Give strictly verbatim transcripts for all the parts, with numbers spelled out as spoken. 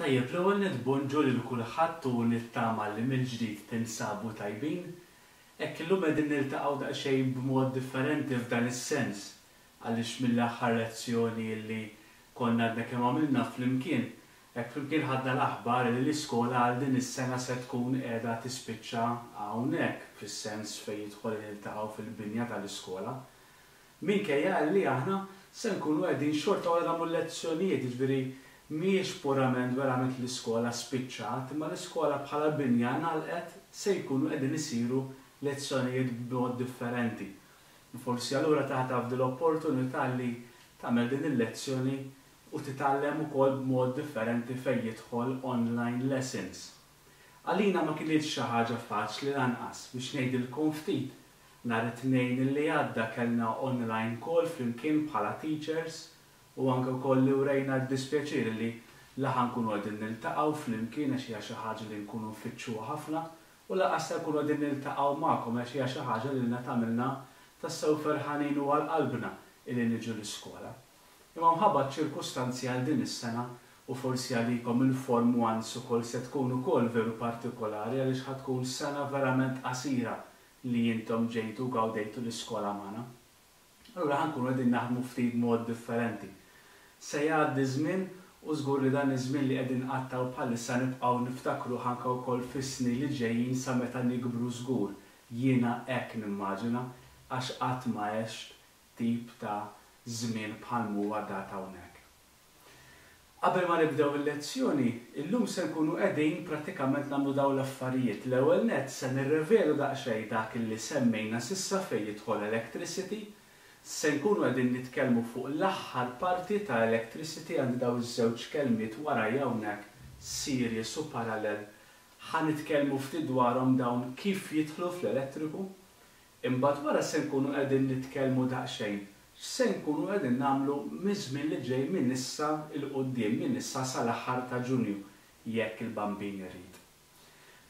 Tajjeb, l-ewwel nett bonġu lil kulħadd u nittama li mill-ġdid tinsabu tajbin. Hekk illum qegħdin niltaqgħu daqsxejn b'mod differenti f'dan is-sens għaliex mill-aħħar lezzjoni li konna għadna kemm għamilna flimkien, hekk flimkien ħadna l-aħbar li l-iskola għal din is-sena se tkun qiegħda tispiċċa hawnhekk fis-sens fejn jidħol niltaqgħu fil-binja tal-iskola. Minkejja li aħna se nkunu qegħdin xorta wara nagħmlu lezzjonijiet, jiġifieri mhijiex purament verament l-iskola spiċċat, imma l-iskola bħala binja ngħalqet se jkunu qegħdin isiru lezzjonijiet b'mod differenti. Forsi allura taħtaf l-opportunità li tagħmel din il-lezzjoni u titgħallem ukoll b'mod differenti fejn jidħol online lessons. Għalina ma kinitx xi ħaġa faċli lanqas biex ngħidilkom ftit. Nhar it-Tnejn li għadda kellna online call flimkien bħala teachers u anke wkoll li urejna d-dispjaċir li la ħa nkunu qegħdin niltaqgħu flimkien għax hija xi ħaġa li nkunu nfittxuha ħafna u lanqas se nkunu qegħdin niltaqgħu magħkom għax hija xi ħaġa li lilna tagħmilna tassew ferħanin u għal qalbna illi niġu l-iskola. Imma mħabba ċirkustanzi għal din is-sena u forsi għalikom il-Form Ones ukoll se tkun ukoll veru partikolari għaliex ħa tkun sena verament qasira li intom ġejtu gawdejtu l-iskola magħna. Allura ħa nkunu qegħdin naħdmu ftit mod differenti. Se jgħaddi żmien u żgur li dan iż-żmien li qegħdin nqattgħu bħalissa nibqgħu niftakru anke wkoll fis-snin li ġejjin sa meta nikbru żgur. Jiena hekk nimmaġina għax qatt ma għext tip ta' żmien bħal huwa dat hawnhekk. Qabel ma nibdew il-lezzjoni, illum se nkunu qegħdin prattikament nagħmlu dawn l-affarijiet. L-ewwel nett se nirrevedu daqsxejn dak li semmejna s'issa fejn jidħol electricity, se nkunu qegħdin nitkellmu fuq l-aħħar parti ta' electricity għandi daw iż-żewġ kelmiet warajja hawnhekk series u parallel. Ħa nitkellmu ftit dwarhom dawn kif jidħlu fl-elettriku. Imbagħad wara se nkunu qegħdin nitkellmu daqsxejn se nkunu qegħdin nagħmlu miż-żmien li ġej minn issa 'l quddiem minn issa sal-aħħar ta' Ġunju jekk il-Bambin irid.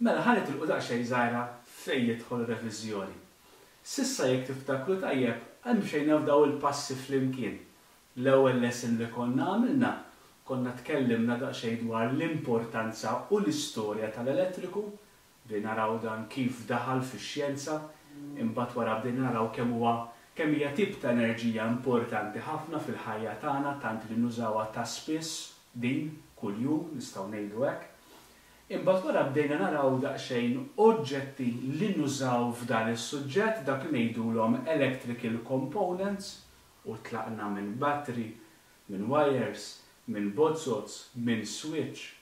Mela ħa nitilqu daqsxejn żgħira fejn jidħol reviżjoni. S'issa jekk tiftakru tajjeb, mxejna f'daw il-passi flimkien. L-ewwel lesson li konna għamilna, konna tkellimna daqsxejn dwar l-importanza u l-istorja tal-elettriku, bdejna naraw dan kif daħal fix-xjenza, imbagħad wara bdejna naraw kemm huwa kemm hija tip ta' enerġija importanti ħafna fil-ħajja tagħna tant li nużawha ta' spiss din kuljum nistgħu ngħidu hekk. Imbagħad wara bdejna naraw daqsxejn oġġetti li nużaw f'dan is-suġġett dak li ngħidulhom electrical components u tlaqna minn battery, minn wires, minn bozoz, minn switch.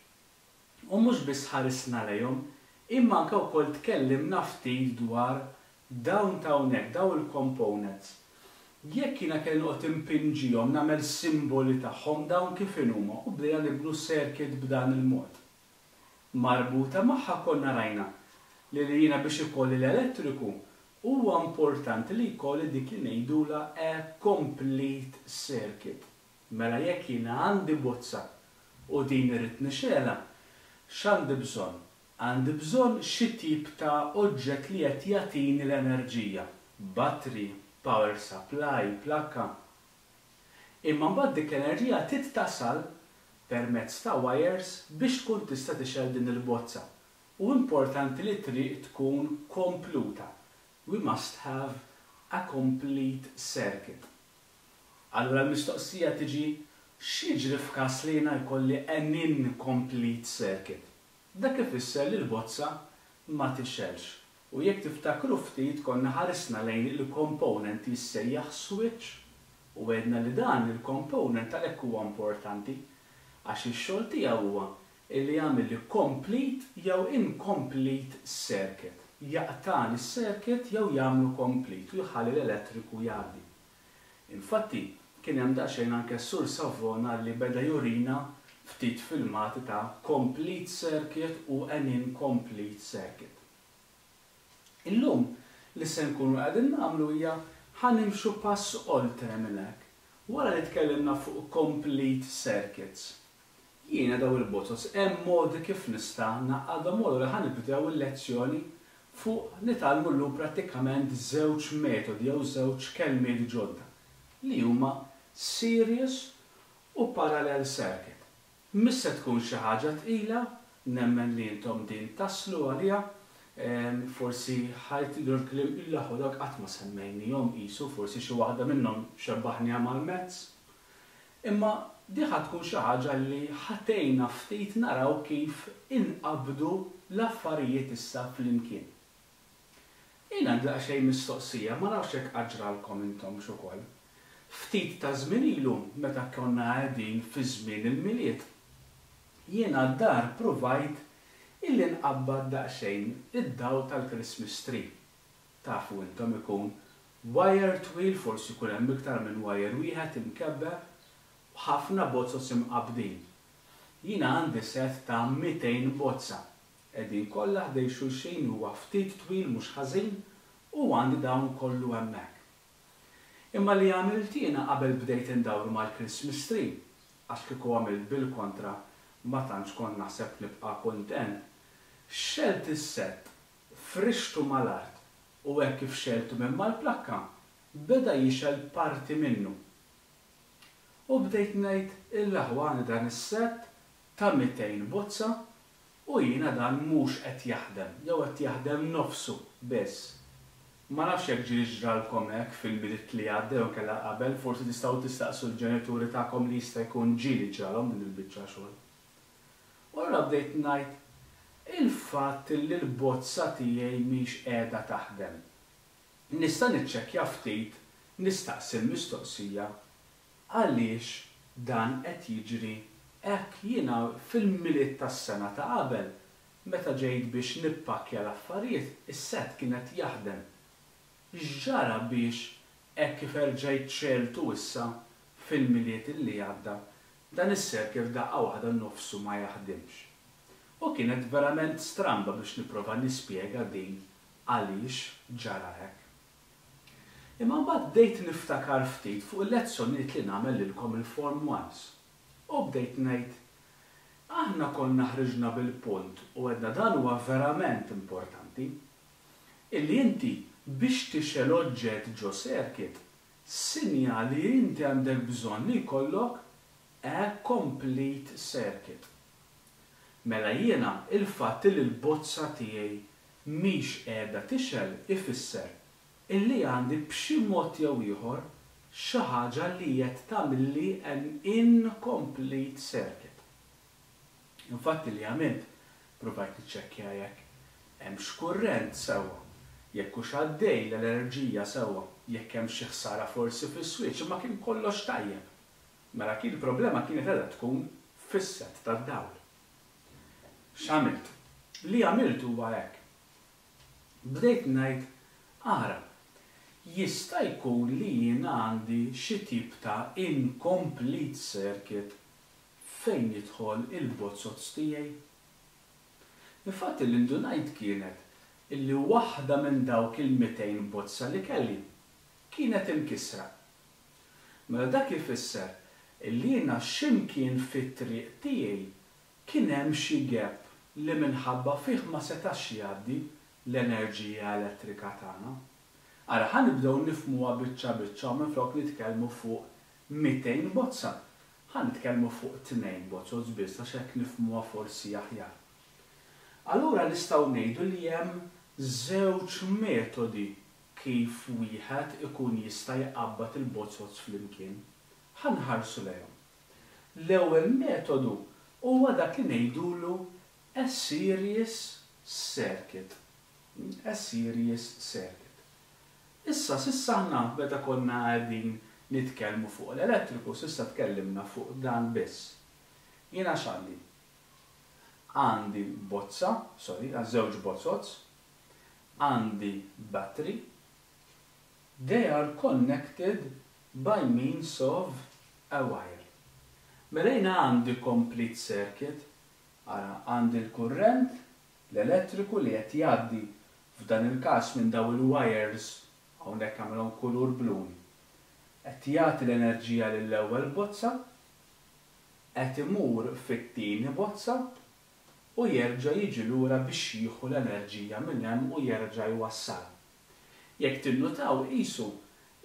U mhux biss ħarisna lejhom, imma anke wkoll tkellimna ftit dwar dawn ta' hawnhekk, dawn il-components. Jekk jiena kelli noqgħod impinġihom nagħmel simboli tagħhom dawn kif inhuma u bdejna nibnu circuit b'dan il-mod. Marbuta magħha konna rajna li li jiena biex ikolli l-elettriku huwa importanti li jkolli dik li ngħidula a complete circuit. Mela jekk jiena għandi bozza u din irrid nixgħelha, x'għandi bżonn? Għandi bżonn xi tip ta' oġġett li qed jagħtini l-enerġija. Battery, power supply, plakka. Imma mbagħad dik l-enerġija trid tasal permezz ta' wires biex tkun tista' tixgħel din il-bozza. U importanti li triq tkun kompluta. We must have a complete circuit. Allura l-mistoqsija tiġi x'jiġri f'każ li jiena jkolli an incomplete circuit. Dak ifisser li l-bozza ma tixgħelx. U jekk tiftakru ftit konna ħarisna lejn il-component jissejjaħ switch u għedna li dan il-component għalhekk huwa importanti għax ix-xogħol tiegħu huwa illi jagħmel li complete jew incomplete circuit. Jaqtagħli s-circuit jew jagħmlu complete u jħalli l-elettriku jgħaddi. Infatti, kien hemm daqsxejn anke Sur Savona li beda jurina ftit filmati ta' complete circuit u an incomplete circuit. Illum li se nkunu qegħdin nagħmlu hija ħa nimxu pass oltre minn hekk. Wara li tkellimna fuq complete circuits. Jiena daw il-bozoz hemm modi kif nista' ngħaqqadhom u li ħa nibdew il-lezzjoni fuq nitgħallmu llum prattikament żewġ metodi jew żewġ kelmiet ġodda li huma series u parallel circuit. Mhix se tkun xi ħaġa tqila, nemmen li intom din taslu għaliha, forsi ħa tgħidu l-kliem il-aħwa dak qatt ma semmejnihom qisu, forsi xi waħda minnhom xebbaħniha mal-mezz. Imma di ħa tkun xi ħaġa li ħa tgħinna ftit naraw kif inqabdu l-affarijiet issa flimkien. Jien għandi daqsxejn mistoqsija, ma nafx jekk qatt ġralkom intom ukoll. Ftit ta' żmien ilu meta konna qegħdin fi żmien il-Milied, jiena d-dar provajt illi nqabbad daqsxejn id-dawl tal-Christmas tree. Tafu intom ikun wire twil, forsi jkun hemm iktar minn wire wieħed imkebbeb, u ħafna bozzos imqabbdin. Jiena għandi set ta' mitejn bozza. Qegħdin kollha ħdejn xulxin, huwa ftit twil mhux ħażin, u għandi dawn kollu hemmhekk. Imma li għamilt jiena qabel bdejt indawru mal-Christmas tree, għax kieku għamilt bil-kontra ma tantx kont naħseb nibqa' kuntent, xgħelt is-set, frixtu mal-art u hekk kif xgħeltu minn mal-plakka, beda jixgħel parti minnu. U bdejt ngħid il-aħwa għandi dan is-set ta' mitejn bozza u jiena dan mhux qed jaħdem, jew qed jaħdem nofsu biss. Ma nafx jekk ġieli ġralkom hekk fil-Milied li għadda jew inkella qabel, forsi tistgħu tistaqsu l-ġenituri tagħkom li jista' jkun ġieli ġralhom din il-biċċa xogħol. U allura bdejt ngħid il-fatt li l-bozza tiegħi mhix qiegħda taħdem. Nista' niċċekkja ftit, nistaqsi l-mistoqsija għaliex dan qed jiġri hekk. Jiena fil-Milied tas-sena ta' qabel, meta ġejt biex nippakkja l-affarijiet, is-set kien qed jaħdem. X'ġara biex hekk kif erġajt xgħeltu issa fil-Milied illi għadda, dan is-circuit daqqa waħda nofsu ma jaħdimx. U kienet verament stramba biex nipprova nispjega din għaliex ġara hekk. Imma mbagħad bdejt niftakar ftit fuq il-lezzjonijiet li nagħmel lilkom il-Form Ones. U bdejt ngħid, aħna konna ħriġna bil-punt u għedna dan huwa verament importanti, illi inti biex tixgħel oġġett ġo circuit, sinjal li inti għandek bżonn li jkollok a complete circuit. Mela jiena il-fatt li l-bozza tiegħi mhix qiegħda tixgħel ifisser illi għandi b'xi mod jew ieħor xi ħaġa li qed tagħmilli an incomplete circuit. Infatti li għamilt, provajt niċċekkja jekk hemmx kurrent sewwa, jekk hux għaddej l-enerġija sewwa, jekk hemm xi ħsara forsi fis-switch, imma kien kollox tajjeb. Mela kien il-problema kienet qiegħda tkun fis-set tad-dawl. X'għamilt? Li għamilt huwa hekk. Bdejt ngħid, ara, jista' jkun li jiena għandi xi tip ta' incomplete circuit fejn jidħol il-bozzozz tiegħi. Infatti l-indunajt kienet illi waħda minn dawk il-mitejn bozza li kelli kienet imkisra. Mela dak ifisser illi jiena x'imkien fit-triq tiegħi kien hemm xi gap li minħabba fih ma setax jgħaddi l-enerġija elettrika tagħna. Ara, ħa nibdew nifhmuha biċċa biċċa u minflok nitkellmu fuq mitejn bozza, ħa nitkellmu fuq tnejn bozzos biss għax hekk nifhmuha forsi aħjar. Allura nistgħu ngħidu li hemm żewġ metodi kif wieħed ikun jista' jqabbad il-bozzos flimkien. Ħa nħarsu lejhom. L-ewwel metodu huwa dak li ngħidulu a series circuit. A series circuit. Issa, s'issa aħna meta konna qegħdin nitkellmu fuq l-elettriku, s'issa tkellimna fuq dan biss. Jiena x'għandi? Għandi bozza, sorry, għal żewġ bozzozz, għandi battery, they are connected by means of a wire. Mela jiena għandi complete circuit, ara, għandi l-kurrent, l-elettriku li qed jgħaddi f'dan il-każ minn daw il-wires, hawnhekk għamilhom kulur blu. Qed jagħti l-enerġija lill-ewwel bozza, qed imur fit-tieni bozza u jerġa' jiġi lura biex jieħu l-enerġija minn hemm u jerġa' jwassal. Jekk tinnutaw qisu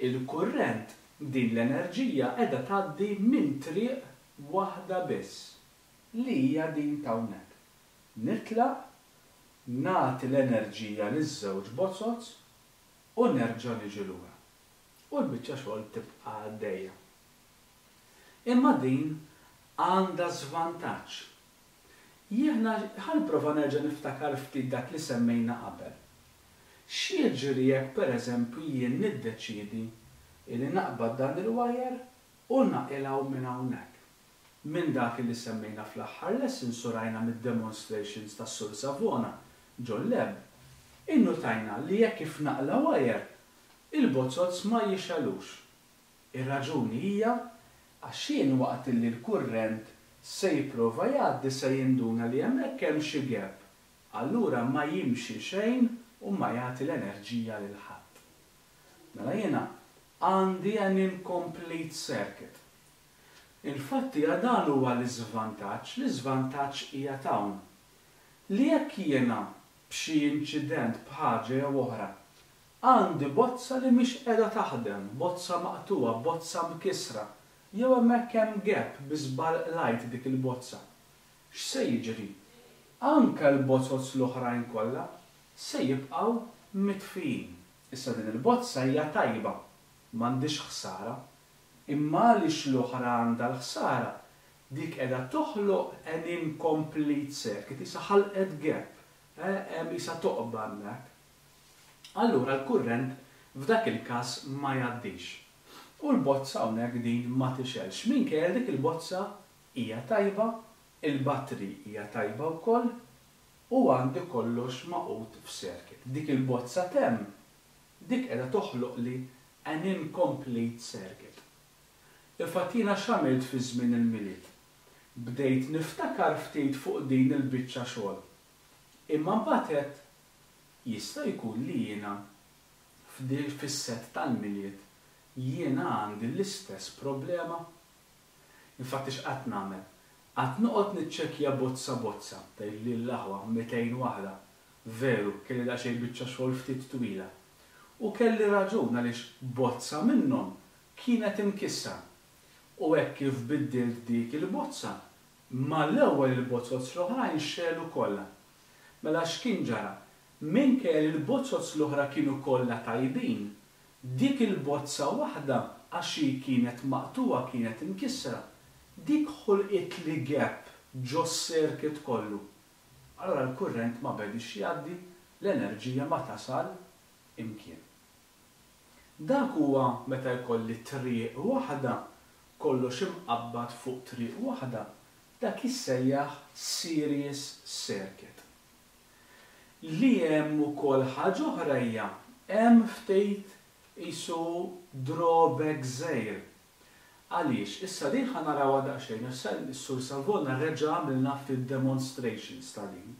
il-kurrent din l-enerġija qiegħda tgħaddi minn triq waħda biss. li hija din t'hawnhekk. Nitlaq, nagħti l-enerġija liż-żewġ bozoz u nerġa' niġi lura. U l-biċċa xogħol tibqa' għaddejja. Imma din għandha żvantaġġ. Jiena ħa nipprova nerġa' niftakar ftit dak li semmejna qabel. X'jiġri jekk pereżempju jien niddeċiedi li naqbad dan il-wire u naqilgħu minn hawnhekk? Minn dak li semmejna fl-aħħar lessons u rajna mid-demonstrations tas-Sur Savona ġol-lab, innutajna li jekk kif naqla' wire, il-bozoz ma jixegħlux. Ir-raġuni hija għax jien waqt li l-kurrent se jipprova jgħaddi se jinduna li hemmhekk hemm xi gap. Allura ma jimxi xejn u ma jagħti l-enerġija lil ħadd. Mela jiena għandi an incomplete circuit. Infatti dan huwa l-iżvantaġġ, l-iżvantaġġ hija t'hawn. Li jekk jiena b'xi inċident b'ħaġa jew oħra għandi bozza li mhix qiegħda taħdem, bozza maqtugħa, bozza mkisra, jew hemmhekk hemm gap bi żball qlajt dik il-bozza. X'se jiġri? Anke l-bozoz l-oħrajn kollha se jibqgħu mitfijin. Issa din il-bozza hija tajba, m'għandix ħsara. Imma għaliex l-oħra għandha l-ħsara, dik qiegħda toħloq an incomplete circuit, issa ħalqet gap, hemm issa toqba hemmhekk. Allura l-kurrent f'dak il-każ ma jgħaddix. U l-bozza hawnhekk din ma tixgħelx. Minkejja dik il-bozza hija tajba, il-battery hija tajba wkoll u għandi kollox magħqud f'circuit. Dik il-bozza t'hemm, dik qiegħda toħloq li an incomplete circuit. Infatti jiena x'għamilt fi żmien il-Milied? Bdejt niftakar ftit fuq din il-biċċa xogħol. Imma mbagħad għedt jista' jkun li jiena fis-set tal-Milied jiena għandi l-istess problema. Infatti x'qatt nagħmel? Qatt noqgħod niċċekkja bozza bozza, tgħid li l-aħwa mitejn waħda. Veru, kelli daqsxejn biċċa xogħol ftit twila. U kelli raġun għaliex bozza minnhom kienet imkissra. U hekk kif biddilt dik il-bozza, mal-ewwel il-bozoz l-oħrajn xegħlu kollha. Mela x'kien ġara? Minkejja li l-bozoz l-oħra kienu kollha tajbin, dik il-bozza waħda għax hi kienet maqtugħa, kienet imkissra, dik ħolqit li gap ġo circuit kollu. Allora l-kurrent ma bedix jgħaddi, l-enerġija ma tasal imkien. Dak huwa meta jkolli triq waħda, kollox imqabbad fuq triq waħda, dak jissejjaħ series circuit. Li hemm ukoll ħaġa oħra hija hemm ftit isu drawback żgħir. Għaliex, issa din ħa narawha daqsxejn, issa s-Sur Savona reġa' għamilna ftit demonstrations ta' din.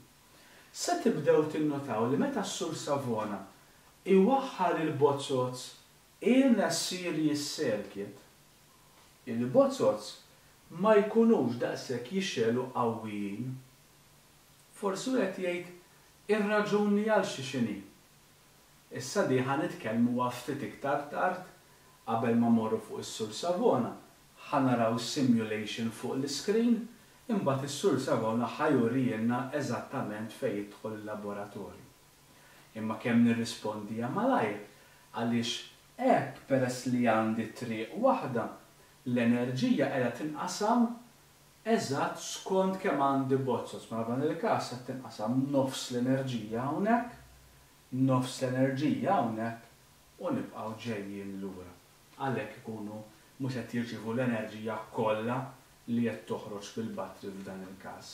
Se tibdew tinnotaw li meta s-Sur Savona iwaħħal il-bozoz in a series circuit, il-bozoz ma jkunux daqshekk jixegħlu qawwijin. Forsi wieħed jgħid ir-raġuni għal xi x'inhi. Issa di ħa nitkellmu ftit iktar tard qabel ma morru fuq is-Sur Savona, ħa naraw simulation fuq l-screen, imbagħad is-Sur Savona ħa jurilna eżattament fejn jidħol il-laboratorju. Imma kemm nirrispondi malajr, għaliex hekk peress li għandi triq waħda, l-enerġija qiegħda tinqasam eżatt skont kemm għandi bozoz. Mela f'dan il-każ qed tinqasam nofs l-enerġija hawnhekk, nofs l-enerġija hawnhekk u nibqgħu ġejjin lura. Għalhekk ikunu mhux qed jirċievu l-enerġija kollha li qed toħroġ bil-battery f'dan il-każ.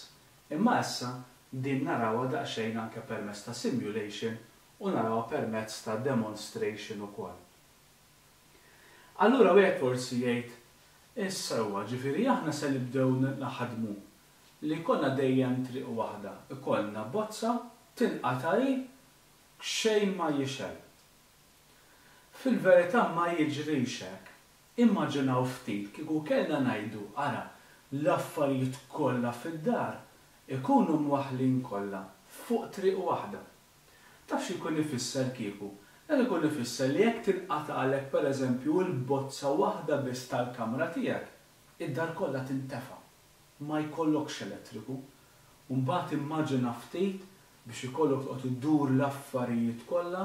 Imma issa din narawha daqsxejn anke permezz ta' simulation u narawha permezz ta' demonstration ukoll. Allura wieħed forsi jgħid, issa huwa ġifieri aħna se nibdew naħdmu li jkollna dejjem triq waħda, ikollna bozza tinqata' hi xejn ma jixgħel. Fil-verità ma jiġrix hekk. Immaġinaw ftit kieku kellna ngħidu ara l-affarijiet kollha fid-dar ikunu mwaħħlin kollha fuq triq waħda. Taf xi jkun ifisser kieku? Dan ikun ifisser li jekk tinqatagħlek pereżempju l-bozza waħda biss tal-kamra tiegħek, id-dar kollha tintefa'. Ma jkollokx elettriku. U mbagħad immaġina ftit biex ikollok toqgħod iddur l-affarijiet kollha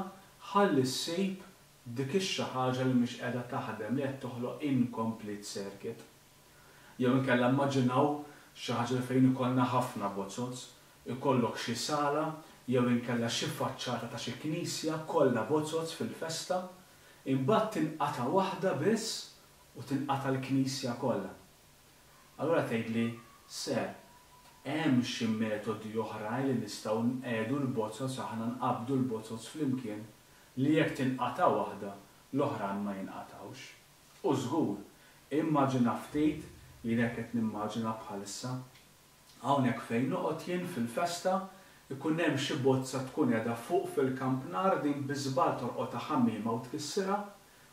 ħalli ssib dik ix-xi ħaġa li mhix qiegħda taħdem, li qed toħloq incomplete circuit. Jew inkella immaġinaw xi ħaġa li fejn ikollna ħafna bozoz, ikollok xi sala jew inkella xi faċċata ta' xi knisja kollha bozoz fil-festa, imbagħad tinqata' waħda biss u tinqata' l-knisja kollha. Allura tgħidli, "Sir, hemm xi metodi oħrajn li nistgħu nqiegħdu l-bozoz, aħna nqabbdu l-bozoz flimkien li jekk tinqata' waħda, l-oħrajn ma jinqatgħux?" U żgur, immaġina ftit, jien hekk qed nimmaġina bħalissa, hawnhekk fejn noqgħod jien fil-festa, ikun hemm xi bozza tkun qiegħda fuq fil-kampnar, din bi żball torqodha ħamiema u tkissirha,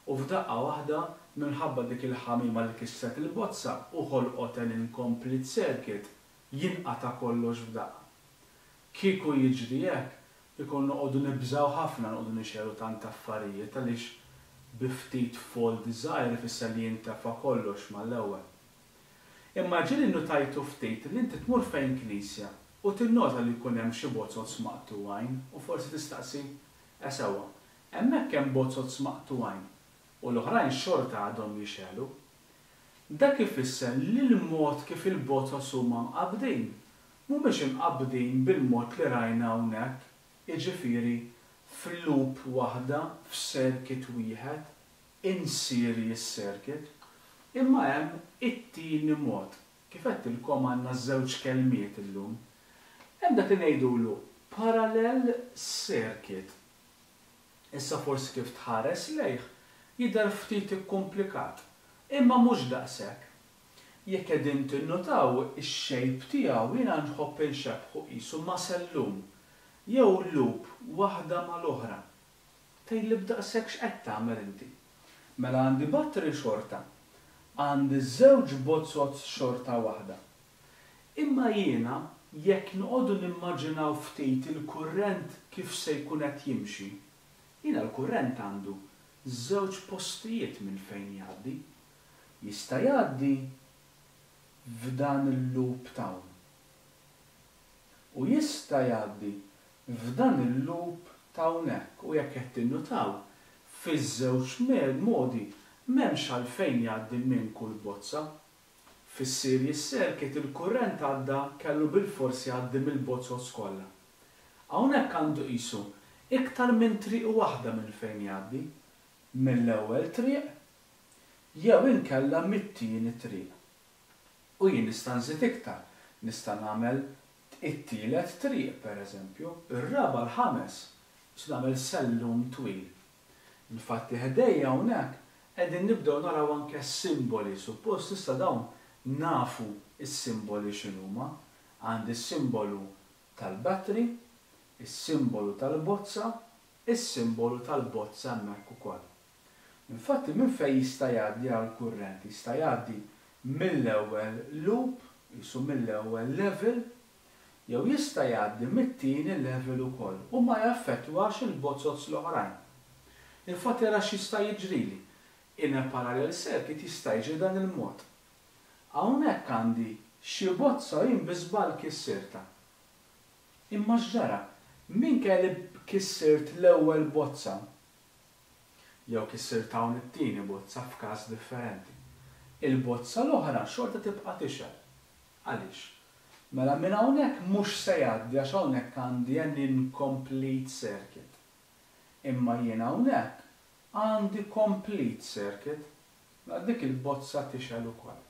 u f'daqqa waħda minħabba dik il-ħamiema li kissret il-bozza u ħolqot an incomplete circuit, jinqata' kollox f'daqqa. Kieku jiġri hekk, ikun noqogħdu nibżgħu ħafna noqogħdu nixegħlu tant affarijiet għaliex bi ftit fault żgħir ifisser li jintefa' kollox mal-ewwel. Imma ġieli nnotajtu ftit li inti tmur fejn knisja u tinnota li jkun hemm xi bozoz maqtugħin u forsi tistaqsi, e sewwa, hemmhekk hemm bozoz maqtugħin u l-oħrajn xorta għadhom jixegħlu. Dak ifisser li l-mod kif il-bozoz huma mqabbdin mhumiex imqabbdin bil-mod li rajna hawnhekk, jiġifieri f'loop waħda, f'circuit wieħed, in series circuit, imma hemm it-tieni mod. Kif għedtilkom għandna żewġ kelmiet illum. Hemm dak li ngħidulu parallel circuit. Issa forsi kif tħares lejh jidher ftit ikkumplikat, imma mhux daqshekk. Jekk qegħdin tinnutaw ix-shape tiegħu jiena nħobb inxebbħu qisu ma' sellum jew loop waħda mal-oħra. Tgħidli b'daqshekk x'qed tagħmel inti? Mela għandi battery xorta, għandi żewġ bozoz xorta waħda. Imma jiena jekk noqogħdu nimmaġinaw ftit il-kurrent kif se jkun qed jimxi, jiena l-kurrent għandu żewġ postijiet minn fejn jgħaddi. Jista' jgħaddi f'dan il-loop t'hawn. U jista' jgħaddi f'dan il-loop t'hawnhekk. U jekk qed tinnutaw, fiż-żewġ modi m'hemmx għalfejn jgħaddi minn kull bozza. Fis-series circuit il-kurrent għadda kellu bilfors jgħaddi mill-bozoz kollha. Hawnhekk għandu qisu iktar minn triq waħda minn fejn jgħaddi, mill-ewwel triq jew inkella mit-tieni triq. U jien nista' nżid iktar, nista' nagħmel it-tielet triq pereżempju, ir-raba' l-ħames, nista' nagħmel sellum twil. Infatti ħdejja hawnhekk qegħdin nibdew naraw anke s-simboli, suppost issa dawn nafu s-simboli x'inhuma. Għandi s-simbolu tal-battery, is-simbolu tal-bozza, is-simbolu tal-bozza hemmhekk ukoll. Infatti minn fejn jista' jgħaddi għall-kurrent? Jista' jgħaddi mill-ewwel loop, qisu mill-ewwel level, jew jista' jgħaddi mit-tieni level ukoll u ma jaffettwax il-bozoz l-oħrajn. Infatti ara x'jista' jiġrili. In a parallel circuit jista' jiġri dan il-mod. Hawnhekk għandi xi bozza jien bi żball kissirtha. Imma x'ġara? Minkejja li kissirt l-ewwel bozza, jew kissirt hawn it-tieni bozza f'każ differenti, il-bozza l-oħra xorta tibqa' tixgħel. Għaliex? Mela minn hawnhekk mhux se jgħaddi għax hawnhekk għandi an incomplete circuit. Imma jien hawnhekk għandi complete circuit, mela dik il-bozza tixgħel ukoll.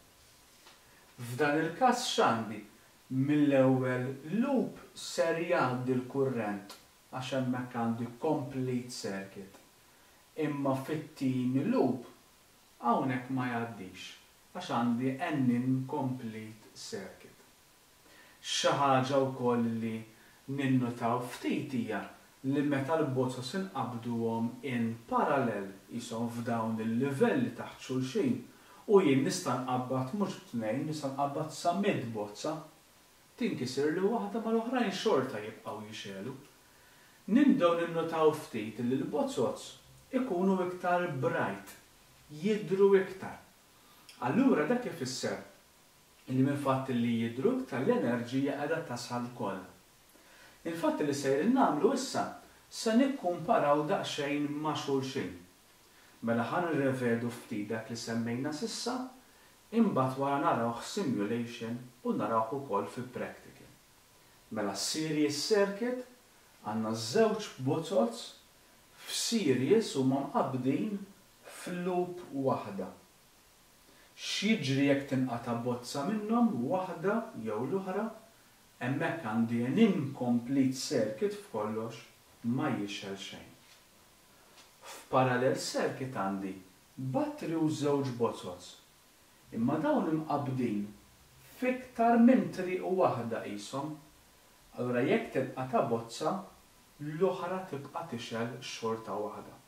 F'dan il-każ x'għandi? Mill-ewwel loop ser jgħaddi l-kurrent għax hemmhekk għandi complete circuit. Imma fit-tieni loop hawnhekk ma jgħaddix għax għandi an incomplete circuit. Xi ħaġa wkoll li ninnutaw ftit hija li meta l-bozoz inqabduhom in parallel qishom f'dawn il-livelli taħt xulxin u jien nista' nqabbad mhux b'tnejn, nista' nqabbad sa mitt bozza, tinkisir li waħda mal-oħrajn xorta jibqgħu jixegħlu. Nibdew ninnutaw ftit li l-bozoz ikunu iktar bright, jidhru iktar. Allura dak ifisser Illi minn fatt li jidhru iktar l-enerġija qiegħda tasal kollha. Il-fatt li sejrin nagħmlu issa se nikkumparaw daqsxejn ma' xulxin. Mela ħa nirrevedu ftit dak li semmejna s'issa, imbagħad wara narawh simulation u narawh ukoll fi practical. Mela series circuit għandna żewġ bozoz f'series huma mqabbdin f'loop waħda. X'jiġri jekk tinqata' bozza minnhom waħda jew l-oħra? Hemmhekk għandi an incomplete circuit f'kollox ma jixgħel xejn. F'parallel circuit għandi battery u żewġ bozoz. Imma dawn imqabbdin f'iktar minn triq waħda qishom. Allura jekk tinqata' bozza, l-oħra tibqa' tixgħel xorta waħda.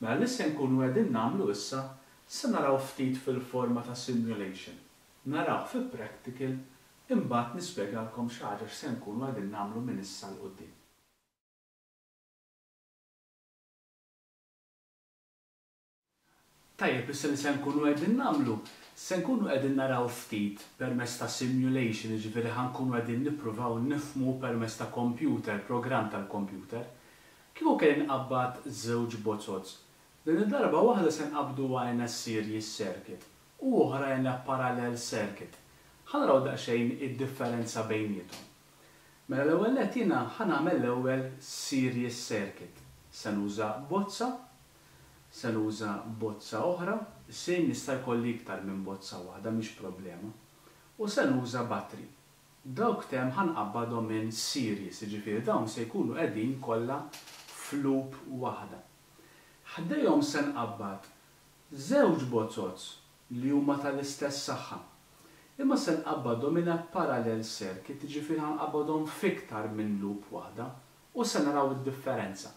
Mela li se nkunu qegħdin nagħmlu issa se naraw ftit fil-forma ta' simulation. Naraw fi practical, imbagħad nispjegalkom xi ħaġa x'se nkunu qegħdin nagħmlu minn issa 'l quddiem. Tajjeb, issa li se nkunu qegħdin nagħmlu, se nkunu qegħdin naraw ftit permezz ta' simulation, jiġifieri ħa nkunu qegħdin nippruvaw nifhmu permezz ta' computer, programm tal-computer. Kieku kelli nqabbad żewġ bozoz. Din id-darba waħda se nqabbduha in a series circuit u oħra in a parallel circuit. Ħa naraw daqsxejn id-differenza bejniethom. Mela l-ewwel nett jiena ħa nagħmel l-ewwel series circuit. Se nuża bozza, se nuża bozza oħra, sejn nista' jkolli iktar minn bozza waħda mhix problema. U se nuża battery. Dawk tem ħa nqabbadhom minn series, jiġifieri dawn se jkunu qegħdin kollha f'loop waħda. Ħdejhom se nqabbad żewġ bozoz li huma tal-istess saħħa. Imma se nqabbadhom in a parallel circuit, jiġifieri ħa nqabbadhom f'iktar minn loop waħda u se naraw id-differenza.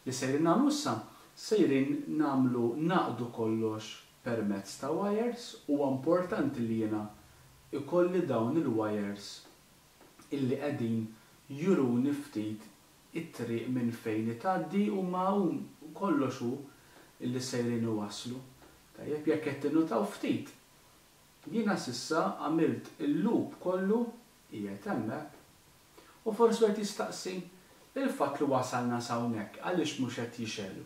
Li sejrin nagħmlu issa, sejrin nagħmlu naqdu kollox permezz ta' wires. Huwa importanti li jiena ikolli dawn il-wires illi qegħdin juruni ftit it-triq minn fejn itgħaddi u ma kollox hu illi sejrin iwasslu. Tajjeb, jekk qed tinnutaw ftit, jiena s'issa għamilt il-loop kollu qiegħed hemmhekk. U forsi wieħed jistaqsi il-fatt li wasalna s'hawnhekk għaliex mhux qed jixegħlu.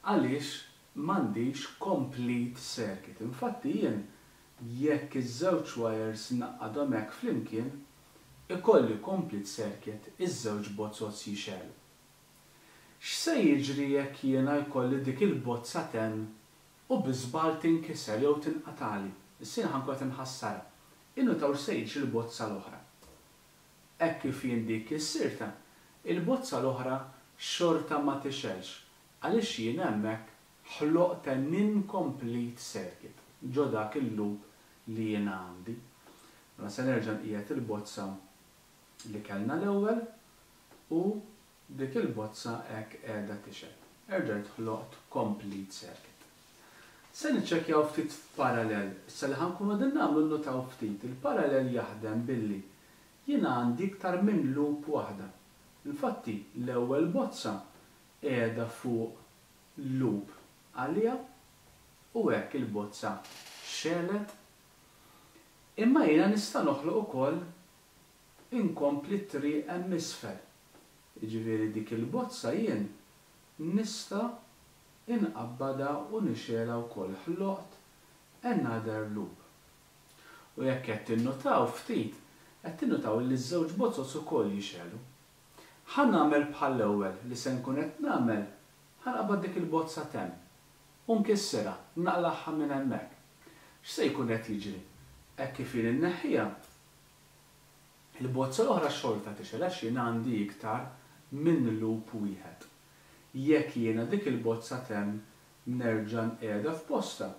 Għaliex m'għandix complete circuit. Infatti jien jekk iż-żewġ wires naqadhom hekk flimkien, ikolli complete circuit, iż-żewġ bozoz jixegħlu. X'se jiġri jekk jiena jkolli dik il-bozza t'hemm u bi żball tinkiser jew tinqatali? Issa jien ħa nkun qed inħassarha. Innutaw x'se jiġri l-bozza l-oħra. Hekk kif jien dik kissirta, il-bozza l-oħra xorta ma tixgħelx għaliex jien hemmhekk ħloqt an incomplete circuit ġo dak il-loop li jiena għandi. Mela se nerġa' nqiegħed il-bozza li kellna l-ewwel u dik il-bozza hekk qiegħda tixgħel. Erġajt ħloqt complete circuit. Se niċċekkjaw ftit f'parallel. Issa li ħa nkunu qegħdin nagħmlu nnutaw ftit. Il-parallel jaħdem billi jiena għandi iktar minn loop waħda. Infatti l-ewwel bozza qiegħda fuq loop għalija u hekk il-bozza xegħlet. Imma jiena nista' noħloq ukoll inkompli t-triq hemm isfel. Jiġifieri dik il-bozza jien nista' inqabbadha u nixgħelha wkoll, ħloqt another loop. U jekk qed tinnutaw ftit, qed tinnutaw li ż-żewġ bozoz ukoll jixegħlu. Ħa nagħmel bħall-ewwel li se nkun qed nagħmel, ħa nqabbad dik il-bozza t'hemm u nkissirha, naqlagħha minn hemmhekk. X'se jkun qed jiġri? Hekk kif jien inneħħiha, il-bozza l-oħra xorta tixgħel għax jien għandi iktar minn loop wieħed. Jekk jiena dik il-bozza t'hemm nerġa' nqiegħda f'posta,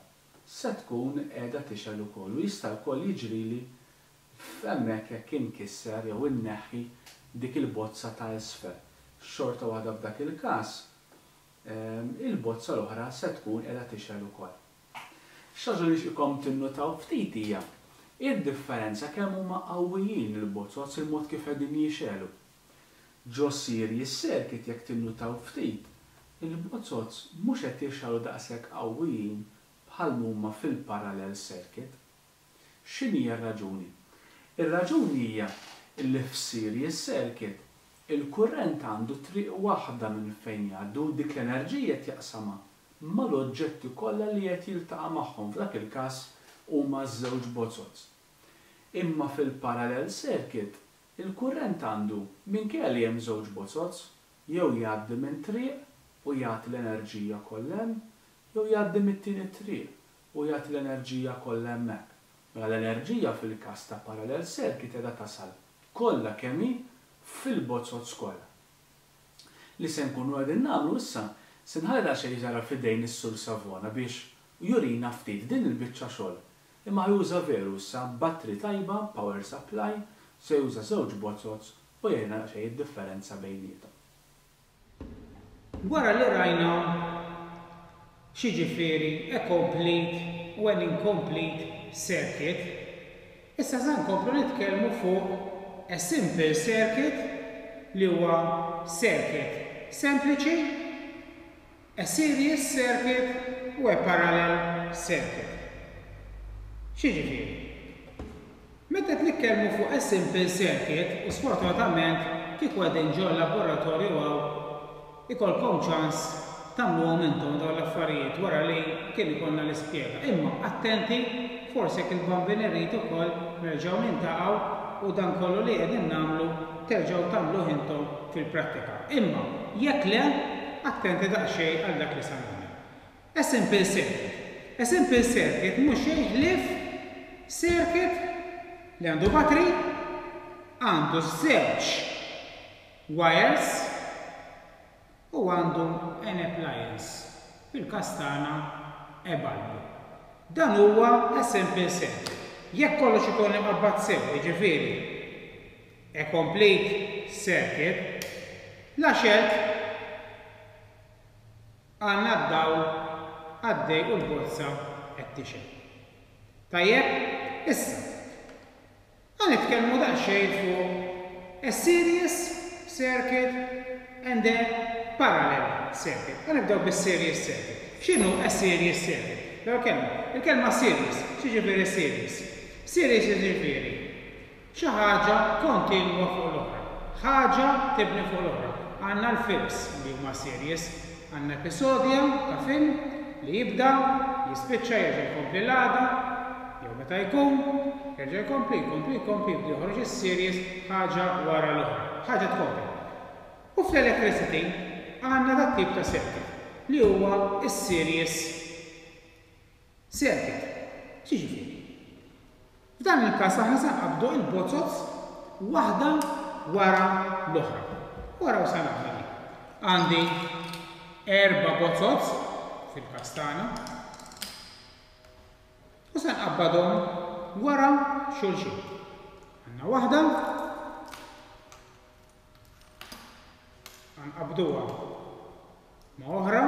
se tkun qiegħda tixgħel ukoll u jista' wkoll jiġrili f'hemmhekk jekk inkisser jew inneħħi dik il-bozza ta' isfel. Xorta waħda f'dak il-każ, ehm, il-bozza l-oħra se tkun qiegħda tixgħel ukoll. Xi ħaġa li nixtieqkom tinnutaw ftit hija id-differenza kemm huma qawwijin il-bozoz, il-mod kif qegħdin jixegħlu. Ġo series circuit jekk tinnutaw ftit, il-bozoz mhux qed jixegħlu daqshekk qawwijin bħal huma fil-parallel circuit. X'inhi r-raġuni? Ir-raġuni hija li f'series circuit il-kurrent għandu triq waħda minn fejn jgħaddu, dik l-enerġija qed jaqsamha mal-oġġetti kollha li qed jiltaqa' magħhom, f'dak il-każ huma żewġ bozoz. Imma fil-parallel circuit il-kurrent għandu, minkejja li hemm żewġ bozoz, jew jgħaddi minn triq u jagħti l-enerġija kollha hemm, jew jgħaddi mit-tieni triq u jagħti l-enerġija kollha hemmhekk. Mela l-enerġija fil-każ ta' parallel circuit qiegħda tasal kollha kemm hi fil-bozoz kollha. Li se nkunu qegħdin nagħmlu issa, se nħalli daqsxejn żgħira f'idejn is-Sur Savona biex jurina ftit din il-biċċa xogħol. Imma juża veru issa battery tajba, power supply, se juża żewġ bozoz u jgħidilna daqsxejn id-differenza bejniethom. Wara li rajna x'jiġifieri a complete u an incomplete circuit, issa se nkomplu nitkellmu fuq a simple circuit li huwa circuit sempliċi, a series circuit u a parallel circuit. X'jiġifieri? Meta nitkellmu fuq a simple circuit, u sfortunatament kieku qegħdin ġo laboratorju hawn, ikolkom ċans tagħmluhom intom dawn l-affarijiet wara li kien ikollna l-ispjega. Imma attenti, forsi jekk il-Bambin irid ukoll nerġgħu nintaqgħu u dan kollu li qegħdin nagħmlu terġgħu tagħmluh intom fil-prattika. Imma jekk le, attenti daqsxejn għal dak li sa nagħmel. A simple circuit. A simple circuit mhux xejn ħlief circuit li għandu battery, għandu żewġ wires u għandu an appliance, fil-każ tagħna a bulb. Dan huwa a simple circuit. Jekk kollox ikun imqabbad sew, jiġifieri a complete circuit, la xelt għandna d-dawl għaddej u l-bozza qed tixgħel. Tajjeb, issa ħa nitkellmu daqsxejn fuq a series circuit and a parallel circuit. Ħa nibdew bis-series circuit. X'inhu a series circuit? L-ewwel kelma, il-kelma series, x'jiġifieri series? Series jiġifieri xi ħaġa kontinwa fuq l-oħra, ħaġa tibni fuq l-oħra. Għandna l-films li huma series, għandna episodja ta' film li jibda, jispiċċa, jerġa' jkompli l-għada, jew meta jkun, jerġa' jkompli, jkompli, jkompli, jibda joħroġ is-series ħaġa wara l-oħra, ħaġa tkompli. U fl-electricity għandna dat tip ta' circuit li huwa is-series circuit. X'jiġifieri? F'dan il-każ aħna se nqabdu il-bozoz waħda wara l-oħra. Wara u se nagħmel. Għandi erba' bozoz fil-każ tagħna u se nqabbadhom wara xulxin. Għandna waħda, nqabduha ma' oħra,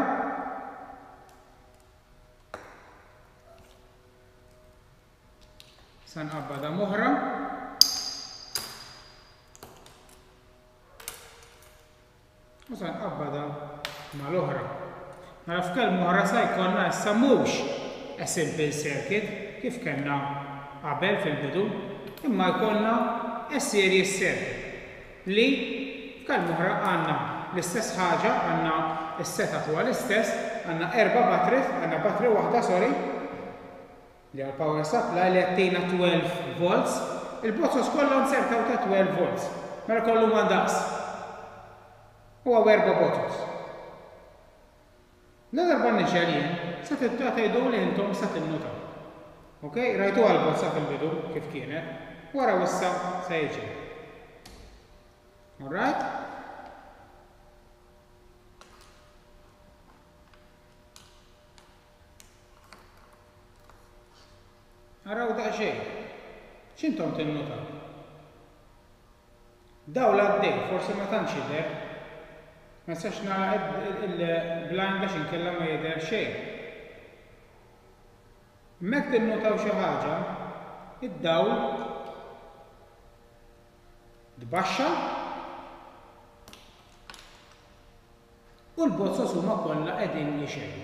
sa nqabbadha m'oħra, u sa nqabbadha mal-oħra. Mela f'kelma oħra sa jkollna issa mhux a simple circuit kif kellna qabel fil-bidu, imma jkollna a series circuit li f'kelma oħra għandna l-istess ħaġa, għandna s-setup huwa l-istess, għandna erba' batteries, għandna battery waħda, sorry, li għal power supply li għattina twelve volts, il-bozoz kollha nsertaw ta' twelve volts, mela kollu ma ndaqs. U għaw erba' bozoz. La darba nixgħel jien, sa tibda tgħidu li intom sa tinnutaw. Ok, rajtu għal-bozza fil-bidu kif kienet, wara issa se jiġri. All right? Araw daqsxejn. X'intom tinnutaw? Dawl għaddej, forsi ma tantx jidher. Ma nistax nagħlaq il-blind għax inkella ma jidher xejn. Hemmhekk tinnutaw xi ħaġa, id-dawl tbaxxa u l-bozoz huma kollha qegħdin jixegħlu.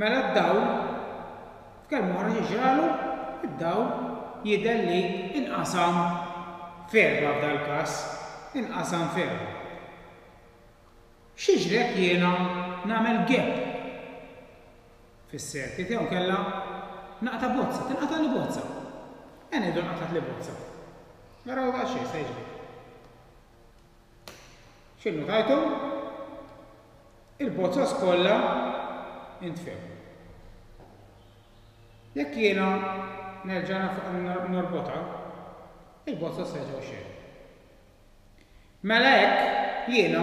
Mela d-dawl f'kelma oħra jiġralu Id-dawl jidher li inqasam f'erba' f'dal-każ, inqasam f'erba'. X'jiġri jekk jiena nagħmel gap fis-circuit jew kella naqta' bozza, tinqata' li bozza. E ngħidu nqatat li bozza. Naraw daqsxejn se jiġri. X'inhu tajtu? Il-bozzas kollha intfew. Jekk jiena nerġa' norbotha, il-bozzas jerġgħu xejn. Mela hekk jiena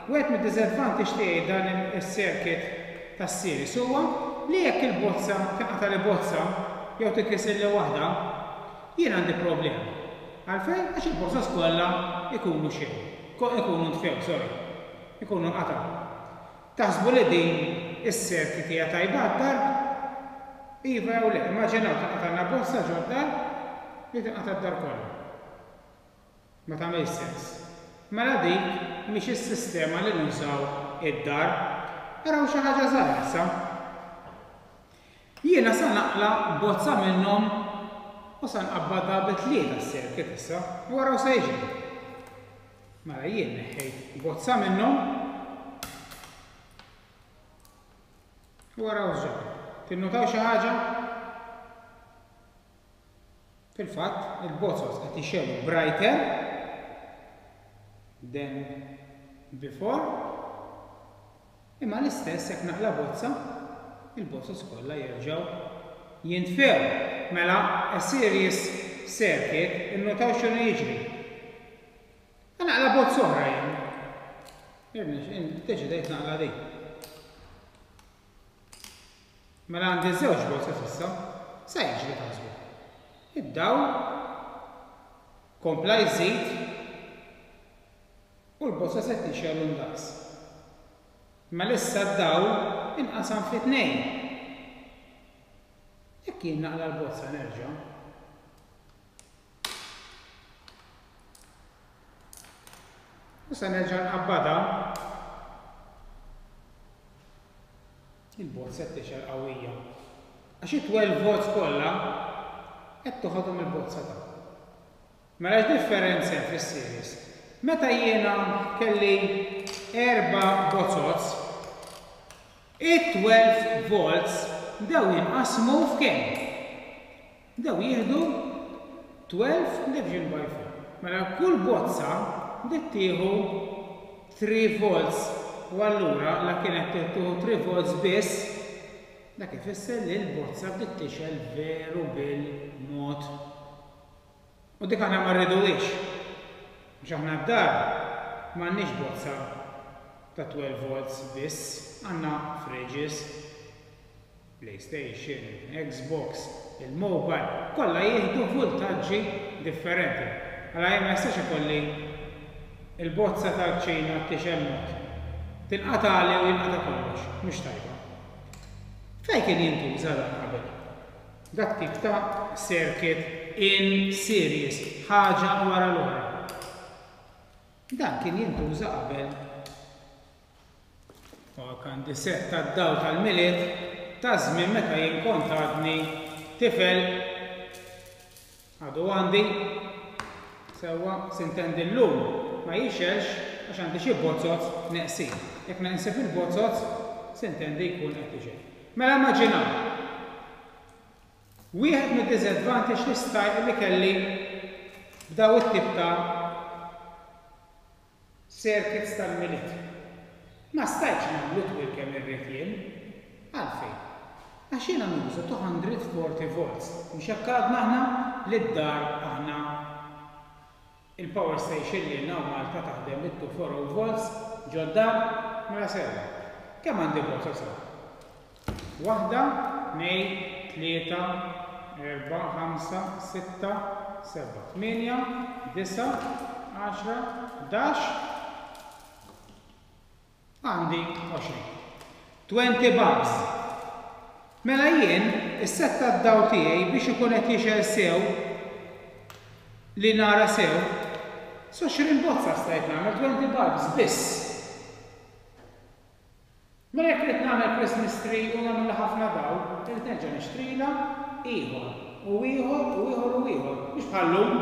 wieħed mid-disadvantage tiegħi dan is-circuit tas-series huwa li jekk il-bozza tinqata' li bozza jew tinkisir li waħda, jien għandi problema. Għalfejn? Għax il-bozzas kollha ikunu xejn. Ikunu ntfew, sorry. Ikunu nqatgħu. Taħsbu li din is-circuit hija tajba għad-dar? Iva jew le, immaġinaw tinqatalna bozza ġod-dar li tinqata' d-dar kollha. Ma tagħmilx sens. Mela dik mhix is-sistema li nużaw id-dar. Araw xi ħaġa żgħira issa. Jiena sa naqla' bozza minnhom u sa nqabbadha bi tlieta s-circuit issa u araw se jiġri. Mela jien neħħejt bozza minnhom u araw x'ġara. Tinnutaw xi ħaġa? Fil-fatt, il-bozzos qed jixegħlu brighter than before, imma l-istess jekk naqla' bozza, il-bozzos kollha jerġgħu jintfew. Mela, a series circuit, innutaw x'inhu jiġri. Naqla' bozza oħra jien. Deċidejt naqla' din. Mela għandi żewġ bozzos issa, sa jiġri taħsbu. Id-dawl kompla jżid u l-bozza se tixgħel ndaqs. Mela issa d-dawl inqasam fi tnejn. Jekk jien naqla' l-bozza nerġa'. U se nerġa' nqabbadha. Il-bozza qed tixgħel qawwija. Għax it-twelve volts kollha qed toħodhom il-bozza ta'. Mela x'differenza hemm fis-series? Meta jiena kelli erba' bozzot, it-twelve volts bdew jinqasmu f'kemm? Bdew jieħdu twelve division by four. Mela kull bozza bdiet tieħu three volts u allura la kienet tieħu three volts biss, dak ifisser li l-bozza bdiet tixgħel veru bil-mod. U dik aħna ma rriduhiex. Għax aħna d-dar m'għandniex bozza ta' twelve volts biss, għandna fridges, PlayStation, Xbox, il-mobile, kollha jieħdu vultaġġi differenti. Allora jien ma jistax ikolli il-bozza tal-kċina tixgħel mod. Tinqatali u jinqata' kollox, mhux tajba. Fejn kien jintuża dan qabel? Dak tip ta' circuit in series, ħaġa wara l-oħra. Dan kien jintuża qabel. U għandi set tad-dawl tal-Milied ta' żmien meta jien kont għadni tifel. Għadu għandi sewwa sintendi llum ma jixelx għax għandi xi bozzot neqsin. Jekk neqsib il-bozzot sintendi jkun qed ixel. Mela immaġinaw. Wieħed mid-disadvantage li staj li kelli b'daw it-tip ta' circuits tal-Milied. Ma stajtx nagħmlu twil kemm irrid jien. Għalfejn? Għax jiena nuża two hundred forty volts. Mhux hekk għadna aħna li d-dar aħna il-power station li għandna Malta taħdem bit two four oh volts ġod-dar, mela sewwa. Kemm għandi volts sew? Waħda, tnejn, tlieta, erba', ħamsa, sitta, seba', tmienja, disa', għaxra, ħdax, għandi għoxrin. Twenty bulbs. Mela jien, is-set tad-dawl tiegħi biex ikun qed jixgħel sew li nara sew, s'għoxrin bozza stajt nagħmel twenty bulbs biss. Mela jekk irid nagħmel Christmas tree u nagħmel ħafna dawl, irid nerġa' nixtrila ieħor. u ieħor u ieħor u ieħor. Mhux bħal-lum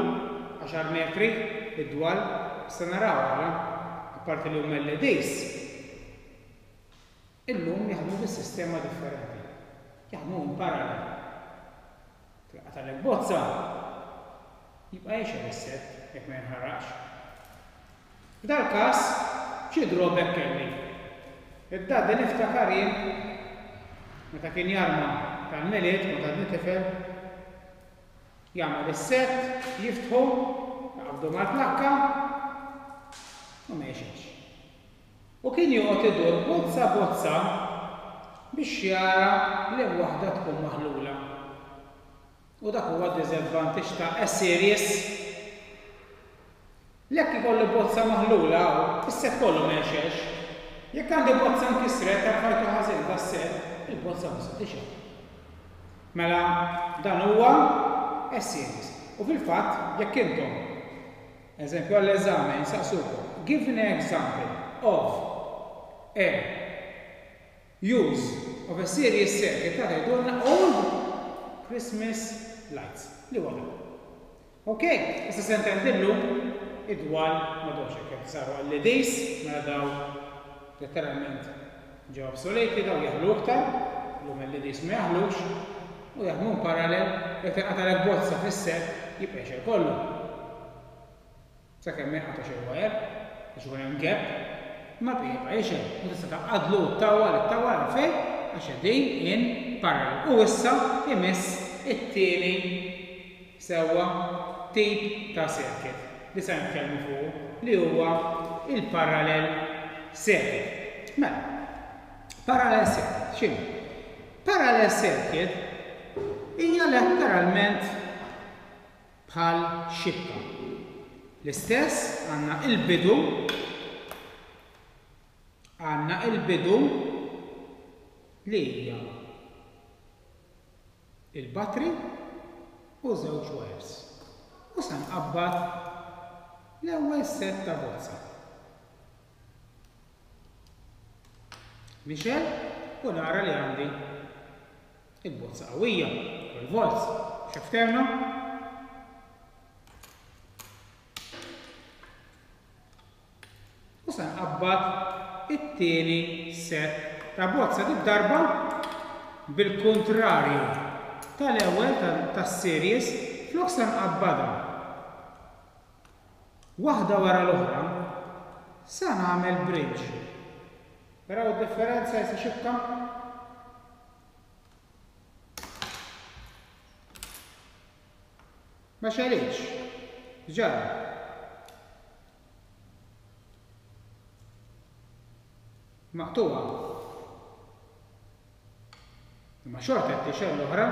għaxar metri id-dwal, issa naraw għala, apparti li huma L E Ds. Illum jaħdmu bis-sistema differenti. Jaħdmu in parallel. Tinqatagħlek bozza, jibqa' jixgħel is-set jekk ma jinħaraqx. F'dal każ, xi drawback kelli? Id-daddy niftakar jien meta kien jarma tal-Milied, meta għadni tifel, jagħmel is-set, jiftħu, jaqbdu mal-plakka u ma jixgħelx. U kien joqgħod idur bozza bozza biex jara li waħda tkun maħlula. U dak huwa disadvantage ta' S-series. Jekk ikollu bozza maħlula, is-set kollu ma jixgħelx. Jekk għandi bozza nkisret, tarfajtu ħażin das-set, il-bozza mhux se tixgħel. Mela dan huwa S-series. U fil-fatt, jekk intom, eżempju għall-eżame, nsaqsukom, "Give an example of a use of a series circuit", ta' tgħidulna old Christmas lights. Li huwa dan. Ok, issa se ntendillu id-dwal m'għadhomx hekk, saru L E Ds, mela daw letteralment ġew obsoleti, daw jaħlu iktar, l-lum L E Ds ma jaħlux, u jaħdmu parallel, jekk tinqatalek bozza fis-set jibqa' jixgħel kollu. Sakemm ma jinqatax il-wire, biex ikun hemm gap, ma jibqa' jixgħel. U tista' tgħaqqadlu t-tawwal it-tawwal fejn għax qegħdin in parallel. U issa imiss it-tieni sewwa tip ta' circuit li se nitkellmu fuq, li huwa il-parallel circuit. Mela, parallel circuit, x'inhu? Parallel circuit hija letteralment bħal xibka. L-istess għandna il-bidu għandna il-bidu li hija il-battery u żewġ wires. U sa nqabbad l-ewwel set ta' bozza. Nixgħel u nara li għandi il-bozza qawwija, twelve volts. Xefterna? U sa nqabbad it-tieni set ta' bozza, dik darba bil-kontrarju tal-ewwel tas-series, flok sa nqabbadha waħda wara l-oħra, sa nagħmel bridge. Taraw id-differenza jisa xibka? Ma xegħlitx. Ġara. Maqtuha. Imma xorta qed tixgħel l-oħra.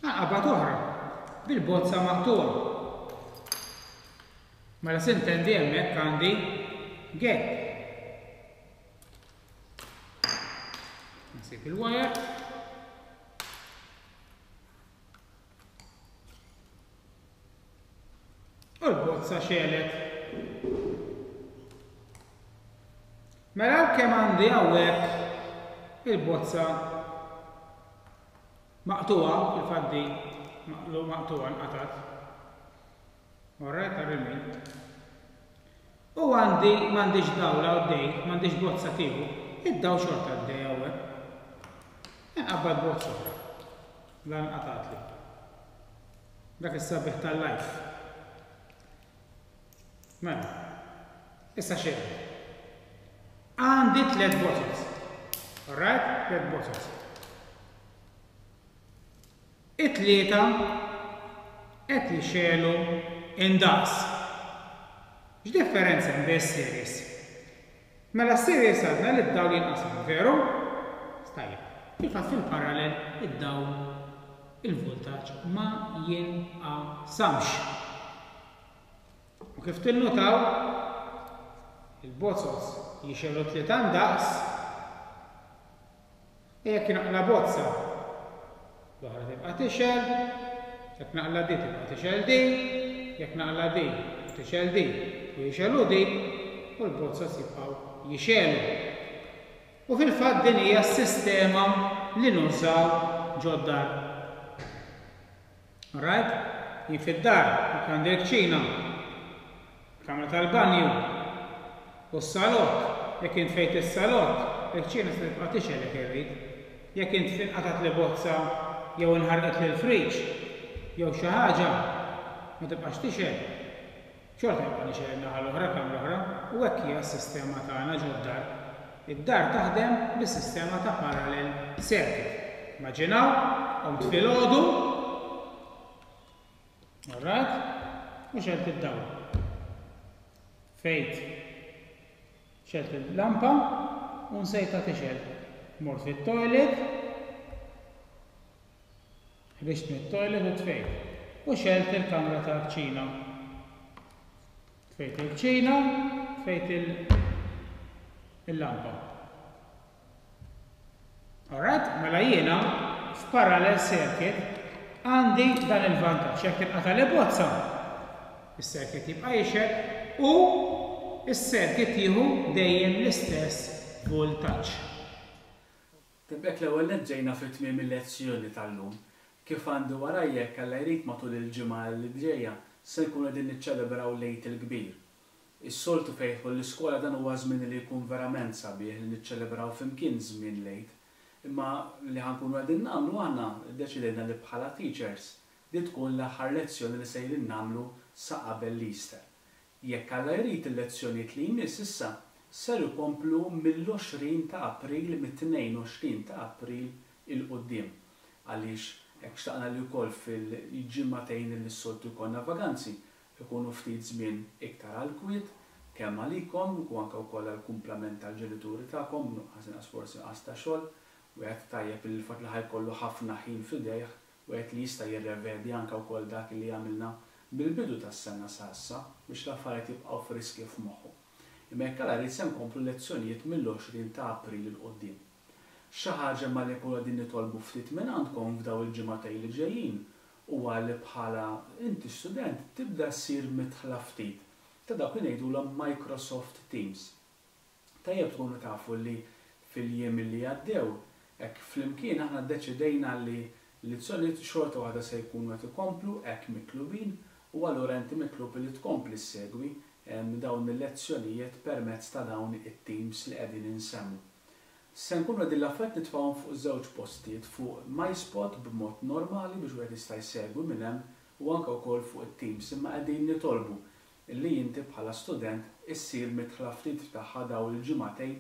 Għaqabat oħra bil-bozza maqtuha. Mela sintendi hemmhekk għandi gap. Nsib il-wire. U l-bozza xegħlet. Mela kemm għandi hawnhekk il-bozza maqtuha, fil-fatt di maqtuha nqatat. Orrajt, tarrimin. U għandi m'għandix dawla għaddej, m'għandix bozza tiegħu, id-daw xorta għaddej hawnhekk. Nqabbad bozza oħra. Dan nqatatli. Dak is-sabiħ tal-life. Mela, issa xejn. Għandi tliet bozzos. Alright? Tliet bozzos. It-tlieta qed jixegħlu indaqs. X'differenza hemm bejn is-series? Mela s-series għadna li d-dawl jinqasam, veru? Stajjeb. Fil-fatt fil-parallel id-dawl il-voltaġġ ma jinqasamx. U kif tinnutaw, il-bozzos jixegħlu tlieta ndaqs, e jekk naqla bozza l-oħra tibqa' tixgħel, jekk naqla di tibqa' tixgħel di, jekk naqla' di, tixgħel di, u jixegħlu di, u l-bozzas jibqgħu jixegħlu. U fil-fatt din hija s-sistema li nużaw ġod-dar. Alright? Jien fid-dar, jekk għandi l-kċina, kamra tal-banju, u s-salott, jekk int tfejt is-salott, il-kċina se tibqa' tixgħel jekk irrid. Jekk int inqatgħet li bozza jew inħarqet li l-friġ jew xi ħaġa, ma tibqax tixgħel. Xorta jibqa' nixgħel in-naħa l-oħra, kamra oħra, u hekk hija s-sistema tagħna ġod-dar. Id-dar taħdem bis-sistema ta' parallel circuit. Immaġinaw, qomt filgħodu, alright, u xgħelt id-dawl. Tfejt, xgħelt il-lampa u nsejtha tixgħel. Mort fit-toilet, ħriġt mit-toilet u tfejt. U xgħelt il-kamra tal-kċina. Tfejt il-kċina, tfejt il-lampa. Alright, mela jiena f'parallel circuit għandi dan il-vantaġġ. Jekk tinqata' li bozza, is-circuit jibqa' jixgħel u is-circuit jieħu dejjem l-istess voltaġġ. Tibek l-ewwel nett ġejna fi tmiem il-lezzjoni tal-lum. Kif għandi warajja, jekk Alla jrid, matul il-ġimgħa li ġejja se nkunu qegħdin niċċelebraw l-Għid il-Kbir. Is-soltu fejn jidħol l-iskola dan huwa żmien li jkun verament sabiħ li niċċelebraw flimkien żmien l-Għid. Imma li ħa nkunu qegħdin nagħmlu aħna ddeċidejna li bħala teachers di tkun l-aħħar lezzjoni li sejrin nagħmlu sa qabel l-Easter. Jekk Alla jrid, il-lezzjonijiet li jmiss issa ser ikomplu mill-għoxrin ta' April, mit-tnejn u għoxrin ta' April 'il quddiem. Għaliex hekk xtaqna li wkoll fil-ġimagħtejn li s-soltu jkollna vaganzi ikunu ftit żmien iktar għal kwiet, kemm għalikom u anke wkoll għall-kumplament tal-ġenituri tagħkom, nuqqas inqas forsi nuqqas ta' xogħol, wieħed tajjeb il-fatt li ħa jkollu ħafna ħin f'idejh, wieħed li jista' jirrevedi anke wkoll dak li għamilna mill-bidu tas-sena sa issa biex l-affarijiet jibqgħu friski f'moħħu. Imma jekk Alla jrid se nkomplu lezzjonijiet mill-għoxrin ta' April 'il quddiem. Xi ħaġa ma li nkunu qegħdin nitolbu ftit minn għandkom f'daw il-ġimagħtejn li ġejjin huwa li bħala inti student tibda ssir midħla ftit ta' dawk li ngħidulhom Microsoft Teams. Tajjeb tkunu tafu li fil-jiem li għaddew, hekk flimkien aħna ddeċidejna li l-lezzjonijiet xorta waħda se jkunu qed ikomplu hekk mitlubin, u allura inti mitlub li tkompli ssegwi dawn il-lezzjonijiet permezz ta' dawn it-teams li qegħdin insemmu. Se nkunu qegħdin l-affarijiet nitfgħuhom fuq żewġ postijiet, fuq MySpot b'mod normali biex wieħed jista' jsegwi minn hemm u anke wkoll fuq it-Teams, imma qegħdin nitolbu li inti bħala student issir midħla ftit tagħha dawn il-ġimagħtejn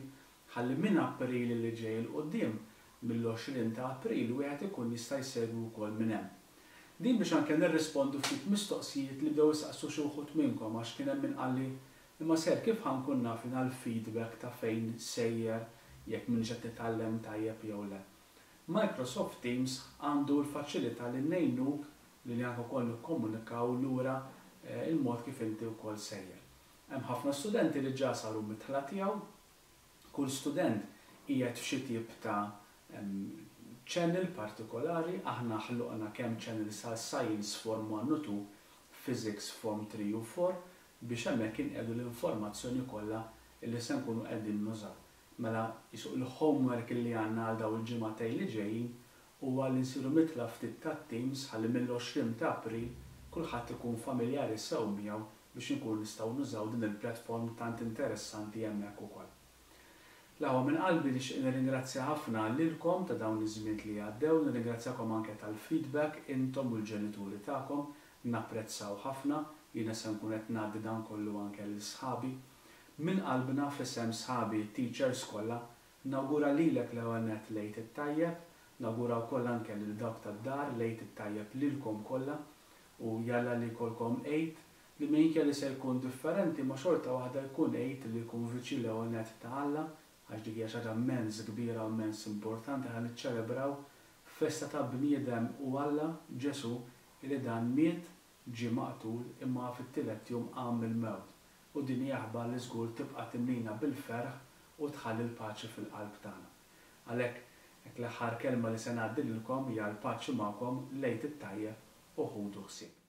ħalli minn April li ġej 'il quddiem, mill-għoxrin ta' April, wieħed ikun jista' jsegwi wkoll minn hemm. Din biex anke nirrispondu ftit mistoqsijiet li bdew isaqsu xi wħud minnkom, għax kien hemm min qalli, imma sir, kif ħa nkun naf jiena l-feedback ta' fejn sejjer, jekk m'iniex qed nitgħallem tajjeb jew le? Microsoft Teams għandu l-faċilità li ngħinuk li li anke wkoll nikkomunikaw lura il-mod kif inti wkoll sejjer. Hemm ħafna studenti li ġa saru midħla tiegħu, kull student qiegħed f'xi tip ta' channel partikolari, aħna ħloqna kemm channels għal Science Form one u two, Physics Form three u four, biex hemmhekk inqiegħdu l-informazzjoni kollha li se nkunu qegħdin nużaw. Mela jisuq il-homework li għandna għal daw il-ġimagħtejn li ġejjin huwa li nsiru midħla ftit tat-Teams ħalli mill-għoxrin ta' April kulħadd ikun familjari sew miegħu biex inkunu nistgħu nużaw din il-platform tant interessanti hemmhekk ukoll. L-aħwa, minn qalbi nixtieq nirringrazzja ħafna lilkom ta' dawn iż-żmien li għaddew, nirringrazzjakom anke tal-feedback intom u l-ġenituri tagħkom, napprezzaw ħafna, jiena se nkun qed ngħaddi dan kollu anke lil sħabi. Minn qalbna f'isem sħabi teachers kollha, nawgura lilek l-ewwel nett l-Għid it-tajjeb, nawgura wkoll anke lil dawk tad-dar l-Għid it-tajjeb lilkom kollha, u jalla li jkollkom Għid li minkejja li se jkun differenti ma xorta waħda jkun Għid li jkun viċin l-ewwel nett ta' Alla, għax dik hija xi ħaġa immens kbira u immens importanti, ħa niċċelebraw festa ta' bniedem u Alla Ġesu li dan miet, ġie maqtul, imma fit-tielet jum qam mill-mewt. U din hija aħbar li żgur tibqa' timlina bil-ferħ u tħalli l-paċi fil-qalb tagħna. Għalhekk hekk l-aħħar kelma li se ngħaddi lilkom hija l-paċi magħkom, l-Għid it-tajjeb u ħudu ħsieb.